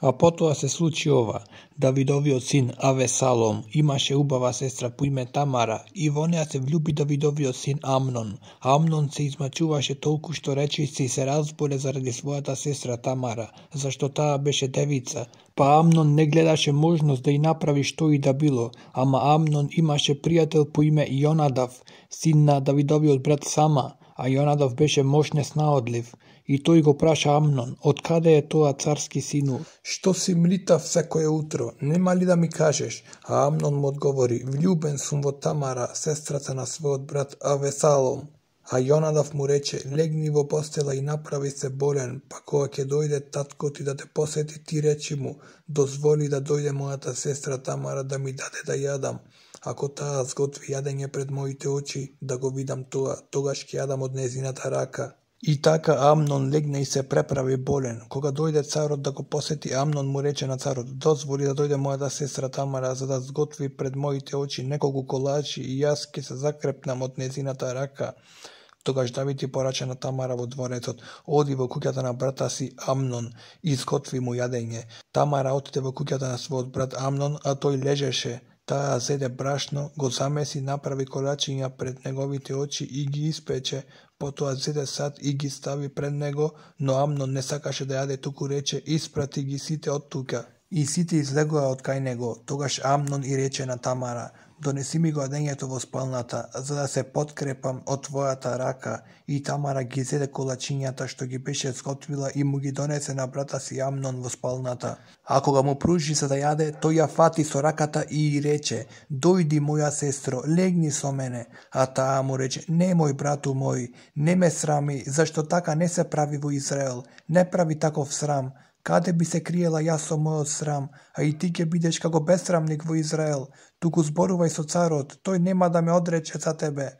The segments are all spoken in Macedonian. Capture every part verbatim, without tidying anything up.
А потоа се случи ова. Давидовиот син Авесалом имаше убава сестра по име Тамара и во неа се влюби Давидовиот син Амнон. Амнон се измачуваше толку што речиси и се разболе заради својата сестра Тамара, зашто таа беше девица. Па Амнон не гледаше можност да и направи што и да било, ама Амнон имаше пријател по име Јонадав, син на Давидовиот брат Сама, а Јонадав беше мош неснаодлив. И тој го праша Амнон, од каде е тоа царски сину? Што си млитав секое утро, нема ли да ми кажеш? А Амнон му одговори, влюбен сум во Тамара, сестрата на својот брат Авесалом. А Јонадав му рече, легни во постела и направи се болен, па кога ќе дојде татко ти да те посети, ти речи му, дозволи да дојде мојата сестра Тамара да ми даде да јадам. Ако таа сготви јадење пред моите очи, да го видам тоа, тогаш ќе јадам од незината рака. И така Амнон легна и се преправи болен. Кога дојде царот да го посети, Амнон му рече на царот, дозволи да дојде мојата сестра Тамара за да сготви пред моите очи неколку колачи и јас ќе се закрепнам од незината рака. Тогаш Давид ти порача на Тамара во дворецот, оди во куќата на брата си Амнон и сготви му јадење. Тамара отиде во куќата на својот брат Амнон, а тој лежеше. Таа зеде брашно, го замеси, направи колачиња пред неговите очи и ги испече, потоа зеде сад и ги стави пред него, но Амнон не сакаше да јаде, туку рече, испрати ги сите од тука. И сите излегоа од кај него. Тогаш Амнон и рече на Тамара, донеси ми го јадењето во спалната, за да се подкрепам од твојата рака. И Тамара ги зеде колачињата што ги беше сготвила и му ги донесе на брата си Амнон во спалната. А кога му пружи за да јаде, тој ја фати со раката и рече, дојди моја сестро, легни со мене. А таа му рече, не мој брату мој, не ме срами, зашто така не се прави во Израел, не прави таков срам. Каде би се криела јас со мојот срам, а и ти ќе бидеш како бесрамник во Израел, туку зборувај со царот, тој нема да ме одрече за тебе.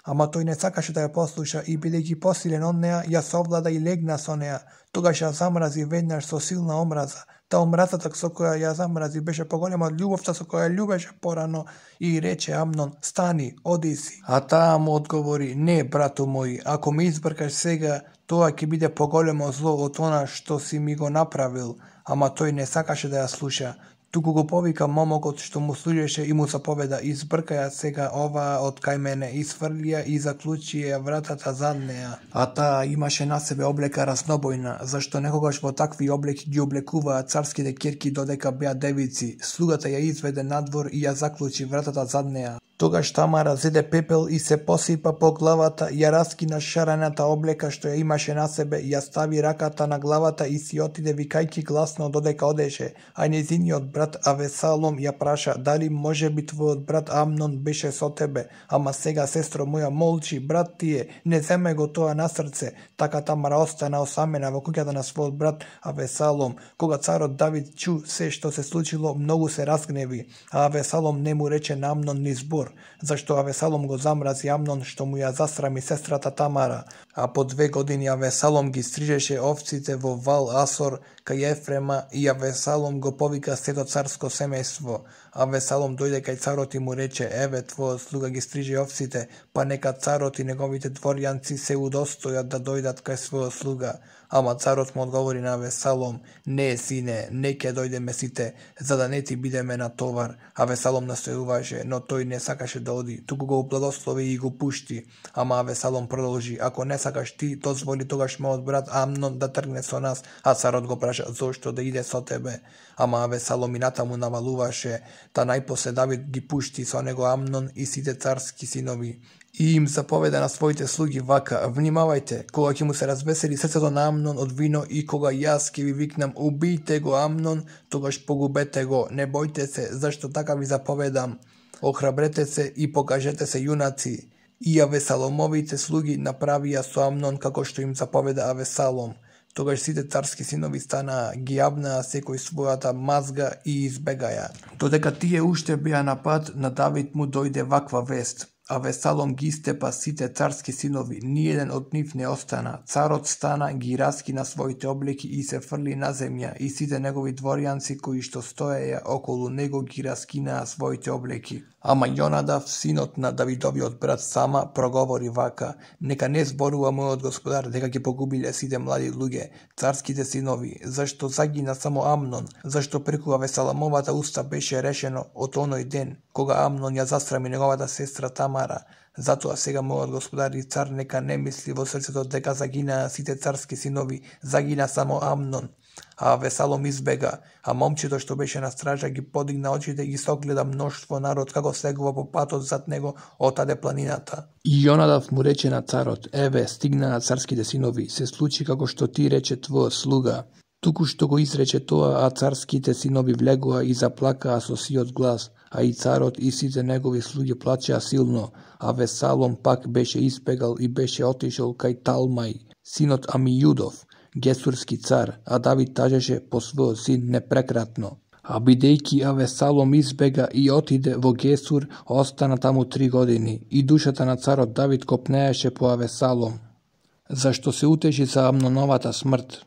Ама тој не сакаше да ја послуша и бидејќи посилен од неа, ја совлада и легна со неа. Тогаш ја замрази веднаш со силна омраза. Та омразата со која ја замрази беше поголема од љубовта со која ја љубеше порано и рече Амнон, стани, оди си. А таа му одговори, не, брату мој, ако ме избркаш сега, тоа ќе биде поголемо зло од она што си ми го направил. Ама тој не сакаше да ја слуша. Туку го повика момокот што му служеше и му заповеда, избркаја сега оваа од кај мене, изфрлија и заклучи ја вратата зад неа. А таа имаше на себе облека разнобојна, зашто некогаш во такви облеки ги облекуваа царските ќерки додека беа девици. Слугата ја изведе надвор и ја заклучи вратата зад неа. Тогаш Тамара зеде пепел и се посипа по главата, ја раскина шарената облека што ја имаше на себе, ја стави раката на главата и си отиде викајки гласно додека одеше, а нејзиниот брат Авесалом ја праша, дали може би твојот брат Амнон беше со тебе, ама сега сестро моја молчи, брат ти е, не земе го тоа на срце. Така Тамара остана осамена во куќата на својот брат Авесалом. Кога царот Давид чу се што се случило, многу се разгневи, а Авесалом не му рече на Амнон ни збор, зашто Авесалом го замрази Амнон што му ја засрами сестрата Тамара. А по две години Авесалом ги стрижеше овците во Вал Асор кај Ефрема и Авесалом го повика сето царско семејство. Авесалом дојде кај царот и му рече, еве твојот слуга ги стриже овците, па нека царот и неговите дворјанци се удостојат да дојдат кај својот слуга. Ама царот му одговори на Авесалом, не, сине, не ќе дојдеме сите, за да не ти бидеме на товар. Авесалом настојуваше, но тој не сакаше да оди, туку го благослови и го пушти. Ама Авесалом продолжи, ако не сакаш ти, дозволи тогаш мојот брат Амнон да тргне со нас, а царот го праша, зошто да иде со тебе. Ама Авесалом и натаму навалуваше, та најпосле Давид ги пушти со него Амнон и сите царски синови. И им заповеда на своите слуги вака, внимавајте, кога ќе му се развесели срцето на Амнон од вино и кога јас ќе ви викнам, убијте го Амнон, тогаш погубете го, не бојте се, зашто така ви заповедам. Охрабрете се и покажете се јунаци. И Авесаломовите слуги направија со Амнон како што им заповеда Авесалом. Тогаш сите царски синови станаа, ги јавнаа секој својата мазга и избегаја. Додека тие уште беа на пат, на Давид му дојде ваква вест. Авесалом ги истепа сите царски синови, ниеден од нив не остана. Царот стана, ги раскина своите облеки и се фрли на земја, и сите негови дворјанци кои што стоеја околу него ги раскинаа своите облеки. Ама Јонадав, синот на Давидовиот брат Сама, проговори вака: нека не зборува мојот господар дека ќе погубиле сите млади луѓе, царските синови, зашто загина само Амнон, зашто преку Авесаломовата уста беше решено од оној ден, кога Амнон ја засрами неговата сестра Тамара. Затоа сега мојот господар и цар нека не мисли во срцето дека загинаа сите царски синови, загина само Амнон. А Авесалом избега, а момчето што беше на стража ги подигна очите и ги согледа мноштво народ како слегува по патот зад него отаде планината. И Јонадав му рече на царот: еве, стигнаа царските синови, се случи како што ти рече твојот слуга. Туку што го изрече тоа, а царските синови влегоа и заплакаа со сиот глас, а и царот и сите негови слуги плачеа силно. Авесалом пак беше избегал и беше отишол кај Талмај, синот Амијудов, гесурски цар, а Давид тажеше по својот син непрекратно. А бидејќи Авесалом избега и отиде во Гесур, остана таму три години, и душата на царот Давид копнееше по Авесалом, зашто се утеши за Амноновата смрт.